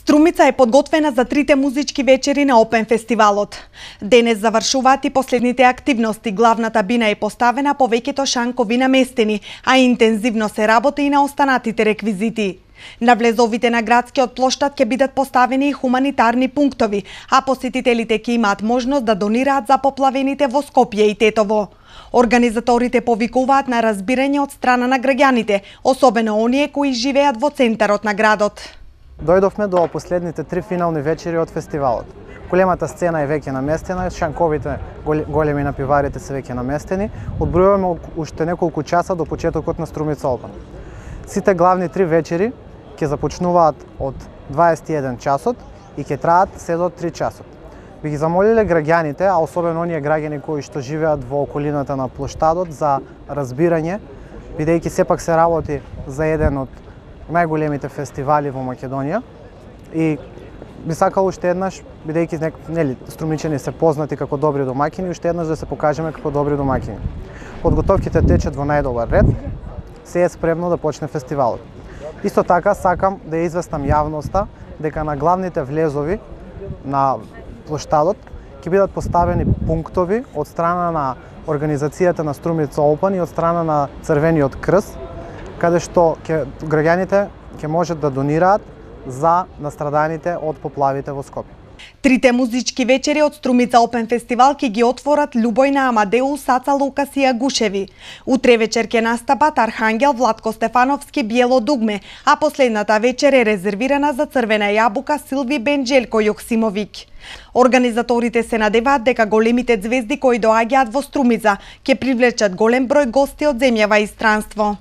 Струмица е подготвена за трите музички вечери на Опен фестивалот. Денес завршуваат и последните активности. Главната бина е поставена, повеќето шанкови наместени, а интензивно се работи и на останатите реквизити. На влезовите на градскиот плоштад ќе бидат поставени и хуманитарни пунктови, а посетителите ќе имаат можност да донираат за поплавените во Скопје и Тетово. Организаторите повикуваат на разбирање од страна на граѓаните, особено оние кои живеат во центарот на градот. Дојдовме до последните три финални вечери од фестивалот. Големата сцена е веќе наместена, шанковите големи напиварите се веќе наместени. Одбројуваме уште неколку часа до почетокот на Струмица Опен. Сите главни три вечери ќе започнуваат од 21 часот и ќе траат се до 3 часот. Би ги замолиле граѓаните, а особено оние граѓани кои што живеат во околината на плоштадот, за разбирање, бидејќи сепак се работи за еден од најголемите фестивали во Македонија, и би сакал уште еднаш, бидејќи струмичани се познати како добри домаќини, уште еднаш да се покажеме како добри домаќини. Подготовките течат во најдобар ред, се е спремно да почне фестивалот. Исто така сакам да ја известам јавноста дека на главните влезови на плоштадот ќе бидат поставени пунктови од страна на организацијата на Струмица Опен и од страна на Црвениот крст, каде што граѓаните ќе можат да донираат за настраданите од поплавите во Скопје. Трите музички вечери од Струмица Опен фестивал ќе ги отворат Љубојна Амадеус, Аца Лукас и Агушеви. Утре вечер ќе настапат Архангел, Владко Стефановски, Биело дугме, а последната вечер е резервирана за Црвена јабука, Силви Бенџелко Јоксимовиќ. Организаторите се надеваат дека големите ѕвезди кои доаѓаат во Струмица ќе привлечат голем број гости од земјава и странство.